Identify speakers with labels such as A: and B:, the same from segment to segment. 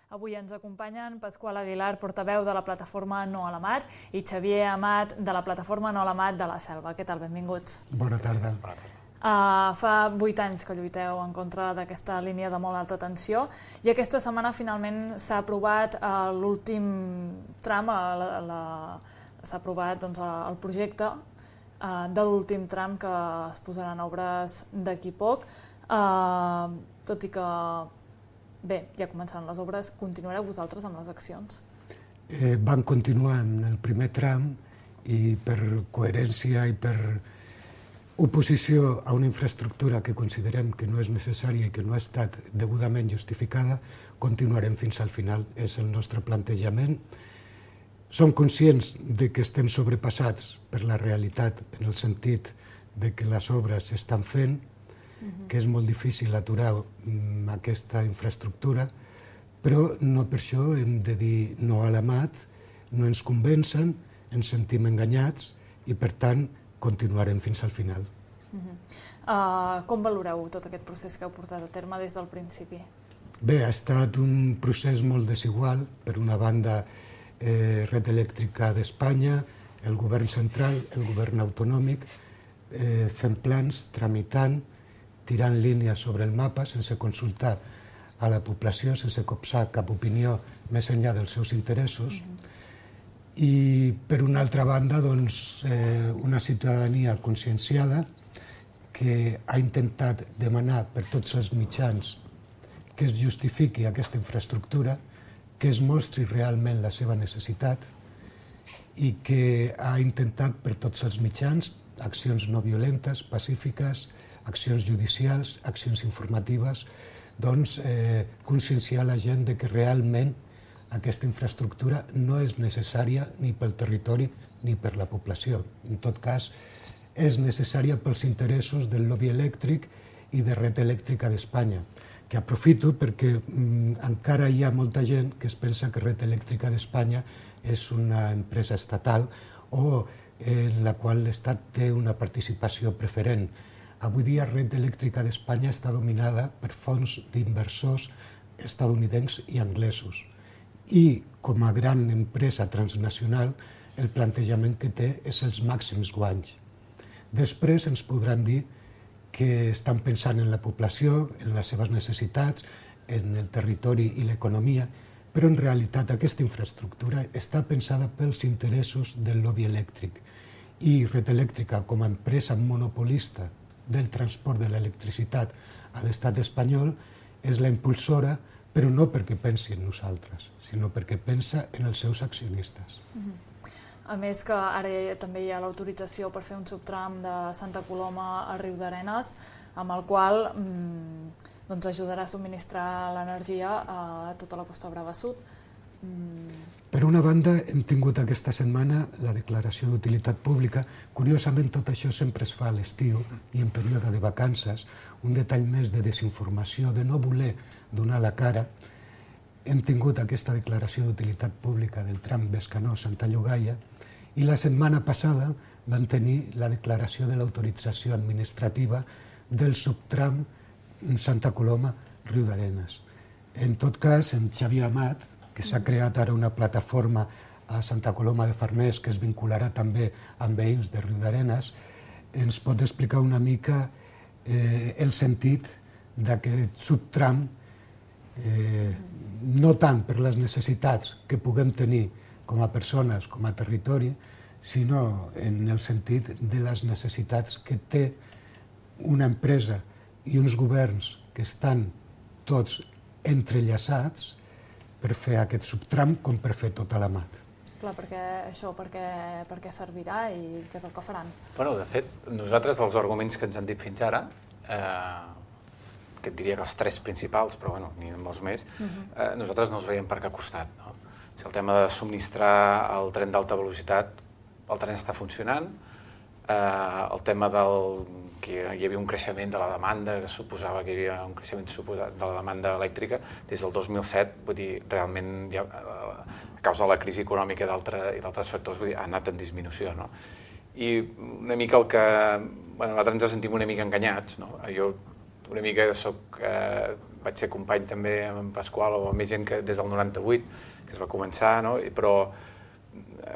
A: Avui ens acompanyen Pasqual Aguilar, portaveu de la plataforma No a l'Amat, i Xavier Amat, de la plataforma No a l'Amat de la Selva. Què tal? Benvinguts.
B: Bona tarda.
A: Fa 8 anys que lluiteu en contra d'aquesta línia de molt alta tensió i aquesta setmana finalment s'ha aprovat l'últim tram, s'ha aprovat el projecte de l'últim tram que es posarà en obres d'aquí poc. Tot i que, bé, ja començaran les obres, continuareu vosaltres amb les accions?
B: Vam continuar en el primer tram i per coherència i per oposició a una infraestructura que considerem que no és necessària i que no ha estat degudament justificada, continuarem fins al final. És el nostre plantejament. Som conscients de que estem sobrepassats per la realitat en el sentit de que les obres s'estan fent, que és molt difícil aturar aquesta infraestructura, però no per això hem de dir no a l'Amat, no ens convencen, ens sentim enganyats i per tant continuarem fins al final.
A: Com valoreu tot aquest procés que heu portat a terme des del principi?
B: Bé, ha estat un procés molt desigual. Per una banda, Red Eléctrica d'Espanya, el govern central, el govern autonòmic, fent plans, tramitant, tirant línies sobre el mapa sense consultar a la població, sense copsar cap opinió més enllà dels seus interessos. I, per una altra banda, una ciutadania conscienciada que ha intentat demanar per tots els mitjans que es justifiqui aquesta infraestructura, que es mostri realment la seva necessitat i que ha intentat per tots els mitjans accions no violentes, pacífiques, accions judicials, accions informatives, conscienciar la gent de que realment aquesta infraestructura no és necessària ni pel territori ni per la població. En tot cas, és necessària pels interessos del lobby elèctric i de Red Eléctrica d'Espanya, que aprofito perquè encara hi ha molta gent que es pensa que Red Eléctrica d'Espanya és una empresa estatal o en la qual l'Estat té una participació preferent. Avui dia Red Eléctrica d'Espanya està dominada per fons d'inversors estatunidencs i anglesos. I, com a gran empresa transnacional, el plantejament que té és els màxims guanys. Després ens podran dir que estan pensant en la població, en les seves necessitats, en el territori i l'economia, però en realitat aquesta infraestructura està pensada pels interessos del lobby elèctric. I Red Eléctrica, com a empresa monopolista del transport de l'electricitat a l'estat espanyol, és la impulsora, però no perquè pensi en nosaltres, sinó perquè pensa en els seus accionistes.
A: A més que ara també hi ha l'autorització per fer un subtram de Santa Coloma a Riudarenes, amb el qual ajudarà a subministrar l'energia a tota la Costa Brava Sud.
B: Per una banda, hem tingut aquesta setmana la declaració d'utilitat pública. Curiosament, tot això sempre es fa a l'estiu i en període de vacances. Un detall més de desinformació, de no voler donar la cara. Hem tingut aquesta declaració d'utilitat pública del tram Bescanó-Santa Llogaia i la setmana passada vam tenir la declaració de l'autorització administrativa del subtram Santa Coloma-Riudarenes. En tot cas, en Xavier Amat, que s'ha creat ara una plataforma a Santa Coloma de Farners que es vincularà també amb veïns de Riudarenes, ens pot explicar una mica el sentit d'aquest subtram, no tant per les necessitats que puguem tenir com a persones, com a territori, sinó en el sentit de les necessitats que té una empresa i uns governs que estan tots entrellaçats per fer aquest subtram com per fer tota l'Amat.
A: Clar, per què servirà i què és el que faran?
C: De fet, nosaltres dels arguments que ens han dit fins ara, que et diria que els 3 principals, però n'hi ha molts més, nosaltres no els veiem per cap costat. Si el tema de subministrar el tren d'alta velocitat, el tren està funcionant, el tema que hi havia un creixement de la demanda, que suposava que hi havia un creixement de la demanda elèctrica des del 2007, vull dir, realment a causa de la crisi econòmica i d'altres factors ha anat en disminució. I una mica el que... Nosaltres ens sentim una mica enganyats. Jo una mica vaig ser company també amb en Pasqual o amb més gent que des del 98, que es va començar, no? Però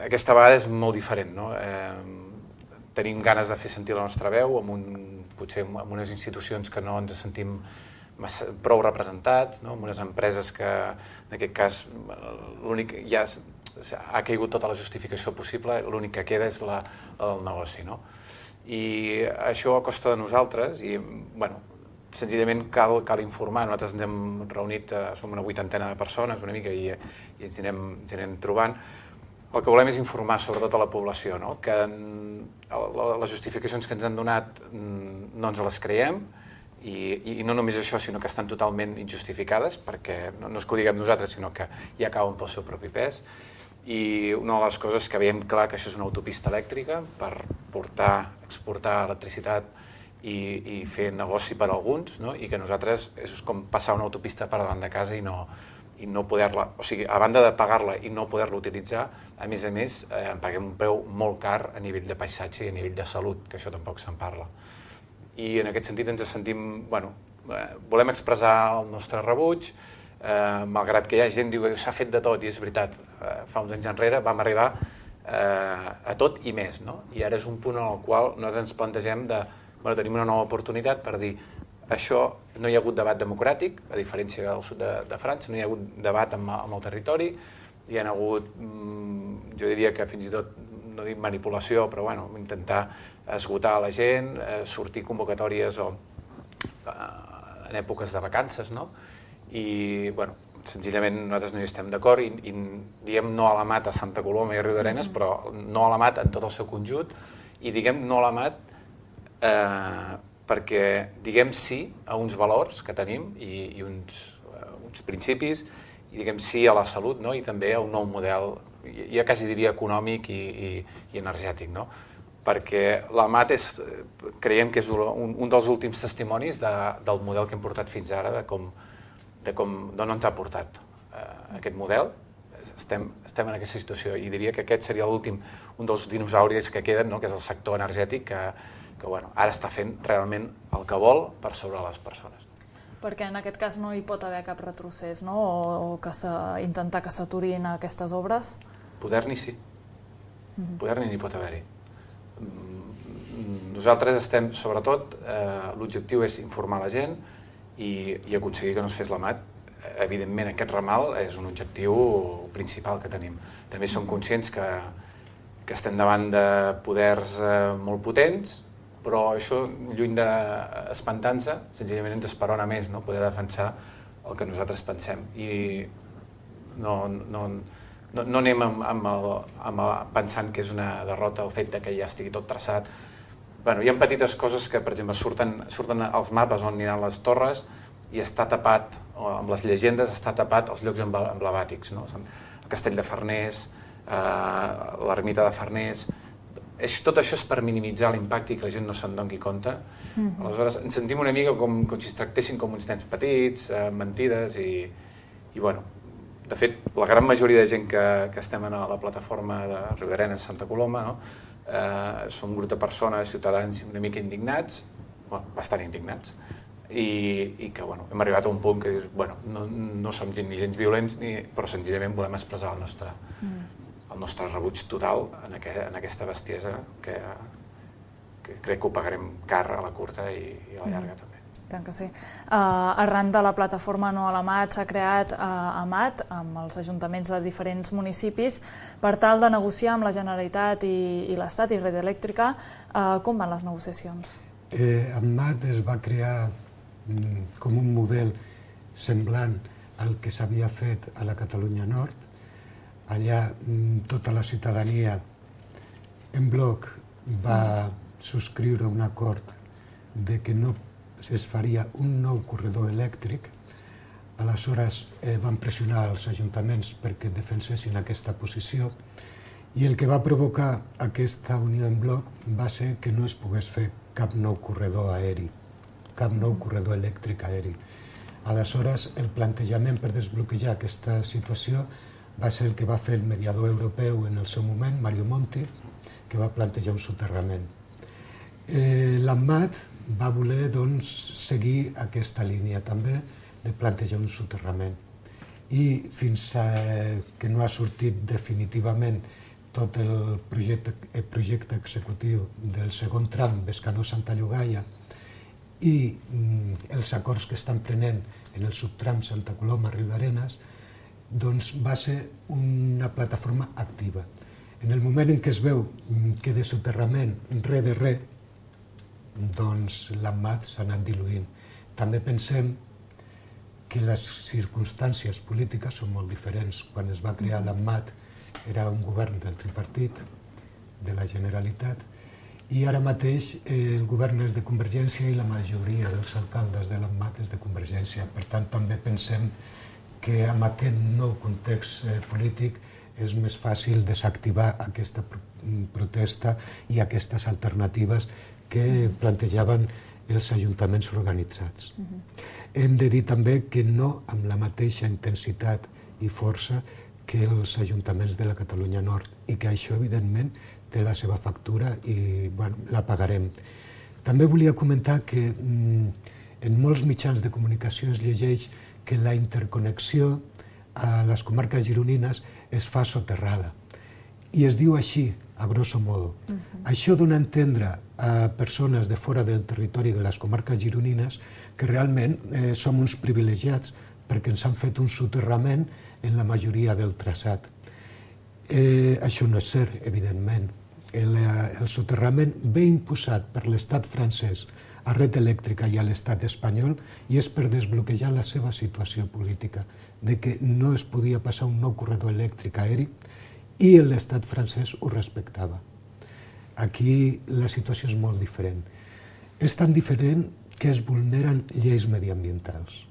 C: aquesta vegada és molt diferent, no? Tenim ganes de fer sentir la nostra veu, potser amb unes institucions que no ens sentim prou representats, no? Amb unes empreses que, en aquest cas, l'únic ja ha caigut tota la justificació possible, l'únic que queda és el negoci, no? I això a costa de nosaltres, i, bueno, senzillament cal informar. Nosaltres ens hem reunit, som una 80ena de persones, una mica, i ens anem trobant. El que volem és informar sobretot a la població, no? Que les justificacions que ens han donat no ens les creiem, i no només això, sinó que estan totalment injustificades, perquè no és que ho diguem nosaltres, sinó que ja cauen pel seu propi pes. I una de les coses que veiem clar que això és una autopista elèctrica per exportar electricitat i fer negoci per a alguns, no? I que nosaltres és com passar una autopista per davant de casa i no poder-la, o sigui, a banda de pagar-la i no poder-la utilitzar, a més en paguem un preu molt car a nivell de paisatge i a nivell de salut, que això tampoc se'n parla. I en aquest sentit ens sentim, volem expressar el nostre rebuig, malgrat que hi ha gent que diu que s'ha fet de tot, i és veritat, fa uns anys enrere vam arribar a tot i més, no? I ara és un punt en el qual nosaltres ens plantegem tenim una nova oportunitat per dir això no hi ha hagut debat democràtic, a diferència del sud de França, no hi ha hagut debat amb el territori, hi ha hagut, jo diria que fins i tot, no dic manipulació, però intentar esgotar la gent, sortir convocatòries en èpoques de vacances, no? I, senzillament nosaltres no hi estem d'acord i diem no a la mat a Santa Coloma i a Riudarenes, però no a la mat en tot el seu conjunt, i diguem no a la mat perquè diguem sí a uns valors que tenim i uns principis, i diguem sí a la salut, no? I també a un nou model, ja quasi diria econòmic i energètic, no? Perquè la MAT creiem que és un dels últims testimonis del model que hem portat fins ara, d'on ens ha portat aquest model. Estem en aquesta situació i diria que aquest seria un dels dinosauris que queden, que és el sector energètic, que ara està fent realment el que vol per sobre les persones.
A: Perquè en aquest cas no hi pot haver cap retrocés, no? O intentar que s'aturin aquestes obres?
C: Poder-n'hi sí. Poder-n'hi n'hi pot haver-hi. Nosaltres estem, sobretot, l'objectiu és informar la gent i aconseguir que no es fes la MAT. Evidentment, aquest ramal és un objectiu principal que tenim. També som conscients que estem davant de poders molt potents, però això, lluny d'espantar-nos, senzillament ens esperona més, poder defensar el que nosaltres pensem. I no anem pensant que és una derrota el fet que ja estigui tot traçat. Hi ha petites coses que, per exemple, surten als mapes on aniran les torres i està tapat, amb les llegendes, està tapat els llocs emblemàtics, el castell de Farners, l'ermita de Farners. Tot això és per minimitzar l'impacte i que la gent no se'n doni compte. Aleshores, ens sentim una mica com si es tractessin com uns nens petits, mentides, i de fet, la gran majoria de gent que estem a la plataforma de Riudarenes, Santa Coloma, som un grup de persones, ciutadans una mica indignats, bastant indignats, i que hem arribat a un punt que no som ni gens violents, però senzillament volem expressar el nostre rebuig total en aquesta bestiesa que crec que ho pagarem car a la curta i a la llarga també.
A: Tant que sí. Arran de la plataforma No a la MAT s'ha creat AMAT amb els ajuntaments de diferents municipis per tal de negociar amb la Generalitat i l'Estat i Red Elèctrica. Com van les negociacions?
B: AMAT es va crear com un model semblant al que s'havia fet a la Catalunya Nord. Allà tota la ciutadania en bloc va subscriure un acord de que no es faria un nou corredor elèctric. Aleshores van pressionar els ajuntaments perquè defensessin aquesta posició i el que va provocar aquesta unió en bloc va ser que no es pogués fer cap nou corredor aeri, cap nou corredor elèctric aeri. Aleshores, el plantejament per desbloquejar aquesta situació va ser el que va fer el mediador europeu en el seu moment, Mario Monti, que va plantejar un soterrament. L'AMAT va voler seguir aquesta línia també, de plantejar un soterrament. I fins que no ha sortit definitivament tot el projecte executiu del segon tram Bescanó-Santa Llogaia i els acords que estan prenent en el subtram Santa Coloma-Riudarenes, doncs va ser una plataforma activa. En el moment en què es veu que de soterrament res de res, doncs l'AMMAT s'ha anat diluint. També pensem que les circumstàncies polítiques són molt diferents. Quan es va crear l'AMMAT era un govern del tripartit, de la Generalitat, i ara mateix el govern és de Convergència i la majoria dels alcaldes de l'AMMAT és de Convergència. Per tant, també pensem que amb aquest nou context polític és més fàcil desactivar aquesta protesta i aquestes alternatives que plantejaven els ajuntaments organitzats. Hem de dir també que no amb la mateixa intensitat i força que els ajuntaments de la Catalunya Nord i que això, evidentment, té la seva factura i la pagarem. També volia comentar que en molts mitjans de comunicació es llegeix que la interconnexió a les comarques gironines es fa soterrada. I es diu així, a grosso modo. Això dona a entendre a persones de fora del territori de les comarques gironines que realment som uns privilegiats perquè ens han fet un soterrament en la majoria del traçat. Això no és cert, evidentment. El soterrament ve imposat per l'estat francès a Red Eléctrica i a l'estat espanyol i és per desbloquejar la seva situació política, de que no es podia passar un nou corredor elèctric aeri i l'estat francès ho respectava. Aquí la situació és molt diferent. És tan diferent que es vulneren lleis mediambientals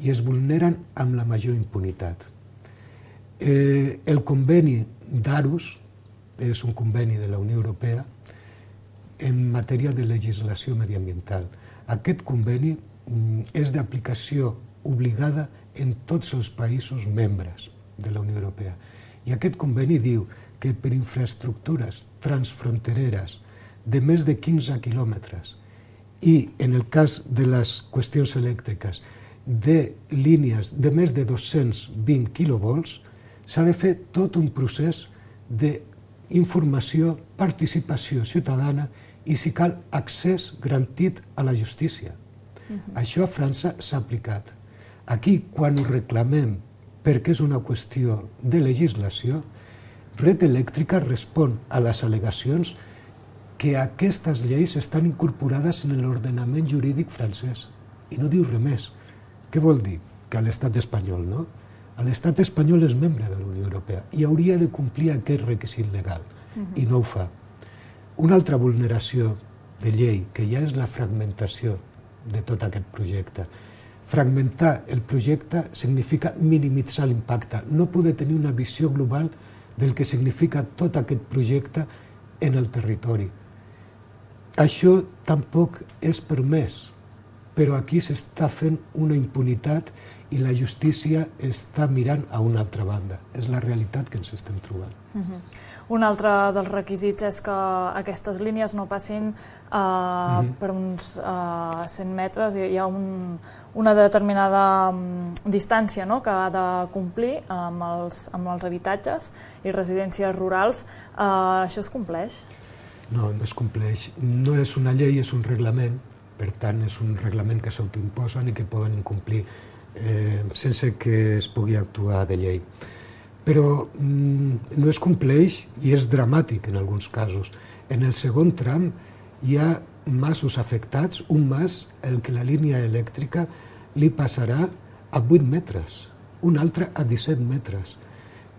B: i es vulneren amb la major impunitat. El conveni d'Aarhus és un conveni de la Unió Europea en matèria de legislació mediambiental. Aquest conveni és d'aplicació obligada en tots els països membres de la Unió Europea. I aquest conveni diu que per infraestructures transfrontereres de més de 15 quilòmetres i, en el cas de les qüestions elèctriques, de línies de més de 220 quilovolts, s'ha de fer tot un procés d'informació, participació ciutadana i, si cal, accés garantit a la justícia. Això a França s'ha aplicat. Aquí, quan ho reclamem perquè és una qüestió de legislació, Red Eléctrica respon a les al·legacions que aquestes lleis estan incorporades en l'ordenament jurídic francès. I no diu res més. Què vol dir? Que a l'estat espanyol, no? L'estat espanyol és membre de la Unió Europea i hauria de complir aquest requisit legal, i no ho fa. Una altra vulneració de llei, que ja és la fragmentació de tot aquest projecte. Fragmentar el projecte significa minimitzar l'impacte, no poder tenir una visió global del que significa tot aquest projecte en el territori. Això tampoc és permès, però aquí s'està fent una impunitat i la justícia està mirant a una altra banda. És la realitat que ens estem trobant.
A: Un altre dels requisits és que aquestes línies no passin per uns 100 metres. Hi ha una determinada distància que ha de complir amb els habitatges i residències rurals. Això es compleix?
B: No, no es compleix. No és una llei, és un reglament. Per tant, és un reglament que s'autoimposen i que poden incomplir sense que es pugui actuar de llei. Però no es compleix i és dramàtic en alguns casos. En el segon tram hi ha masos afectats, un mas, el que la línia elèctrica li passarà a 8 metres, un altre a 17 metres.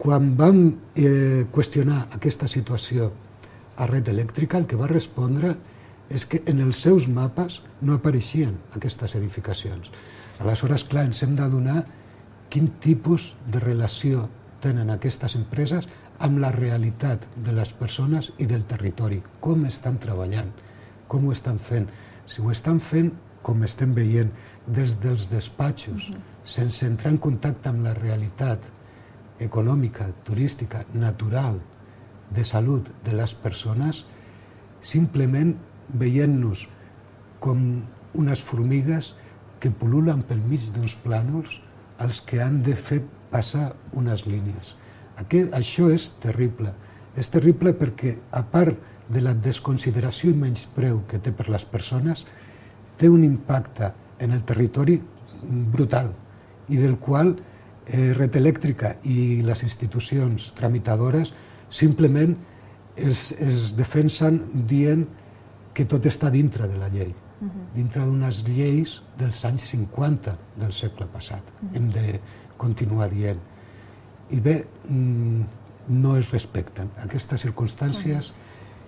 B: Quan vam qüestionar aquesta situació a Red Eléctrica, el que va respondre és que en els seus mapes no apareixien aquestes edificacions. Aleshores, clar, ens hem d'adonar quin tipus de relació tenen aquestes empreses amb la realitat de les persones i del territori. Com estan treballant, com ho estan fent. Si ho estan fent, com estem veient, des dels despatxos, sense entrar en contacte amb la realitat econòmica, turística, natural, de salut de les persones, simplement veient-nos com unes formigues que pul·lulen pel mig d'uns plànols als que han de fer passar unes línies. Això és terrible. És terrible perquè, a part de la desconsideració i menyspreu que té per les persones, té un impacte en el territori brutal i del qual Red Eléctrica i les institucions tramitadores simplement es defensen dient que tot està dintre de la llei, dintre d'unes lleis dels anys 50 del segle passat. Hem de continuar dient. I bé, no es respecten. Aquestes circumstàncies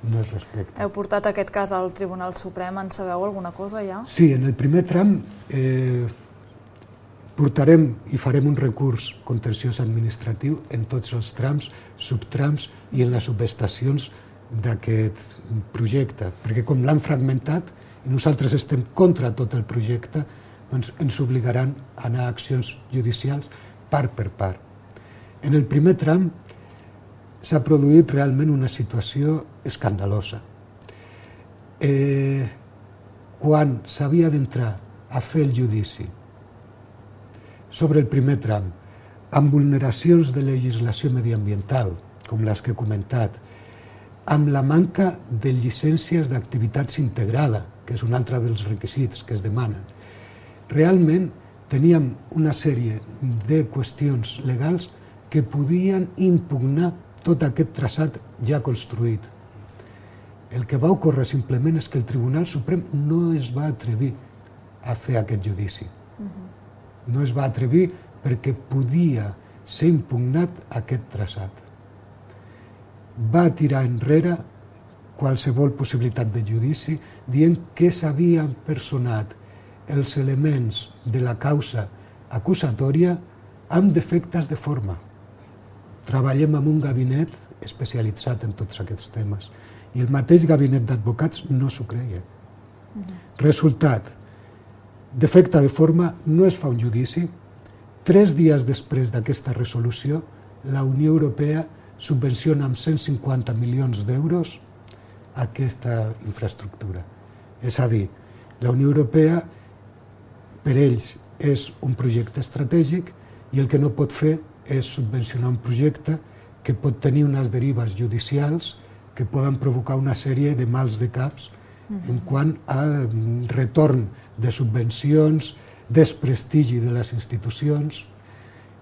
B: no es respecten.
A: Heu portat aquest cas al Tribunal Suprem, en sabeu alguna cosa ja?
B: Sí, en el primer tram portarem i farem un recurs contenciós administratiu en tots els trams, subtrams i en les subestacions d'aquest projecte, perquè com l'han fragmentat i nosaltres estem contra tot el projecte, doncs ens obligaran a anar a accions judicials part per part. En el primer tram s'ha produït realment una situació escandalosa. Quan s'havia d'entrar a fer el judici sobre el primer tram, amb vulneracions de legislació mediambiental, com les que he comentat, amb la manca de llicències d'activitats integrada, que és un altre dels requisits que es demanen. Realment teníem una sèrie de qüestions legals que podien impugnar tot aquest traçat ja construït. El que va ocórrer simplement és que el Tribunal Suprem no es va atrevir a fer aquest judici. No es va atrevir perquè podia ser impugnat aquest traçat. Va tirar enrere qualsevol possibilitat de judici dient que s'havien personat els elements de la causa acusatòria amb defectes de forma. Treballem amb un gabinet especialitzat en tots aquests temes i el mateix gabinet d'advocats no s'ho creia. Resultat, defecte de forma, no es fa un judici. 3 dies després d'aquesta resolució, la Unió Europea subvenciona amb 150 milions d'euros aquesta infraestructura. És a dir, la Unió Europea, per ells, és un projecte estratègic i el que no pot fer és subvencionar un projecte que pot tenir unes derives judicials que poden provocar una sèrie de mals de caps en quant a retorn de subvencions, desprestigi de les institucions,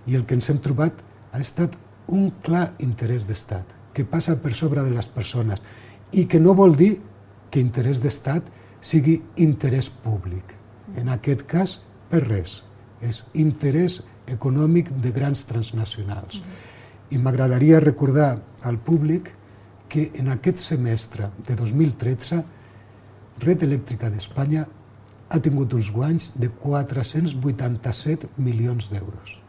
B: i el que ens hem trobat ha estat un clar interès d'Estat, que passa per sobre de les persones i que no vol dir que interès d'Estat sigui interès públic. En aquest cas, per res. És interès econòmic de grans transnacionals. I m'agradaria recordar al públic que en aquest semestre de 2013 Red Eléctrica d'Espanya ha tingut uns guanys de 487 milions d'euros.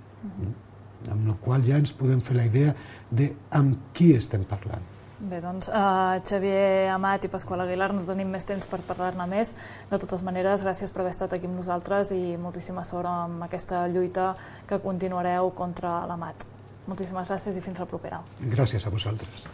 B: Amb la qual ja ens podem fer la idea de amb qui estem parlant.
A: Bé, doncs, Xavier Amat i Pasqual Aguilar, no tenim més temps per parlar-ne més. De totes maneres, gràcies per haver estat aquí amb nosaltres i moltíssima sort amb aquesta lluita que continuareu contra l'Amat. Moltíssimes gràcies i fins la propera.
B: Gràcies a vosaltres.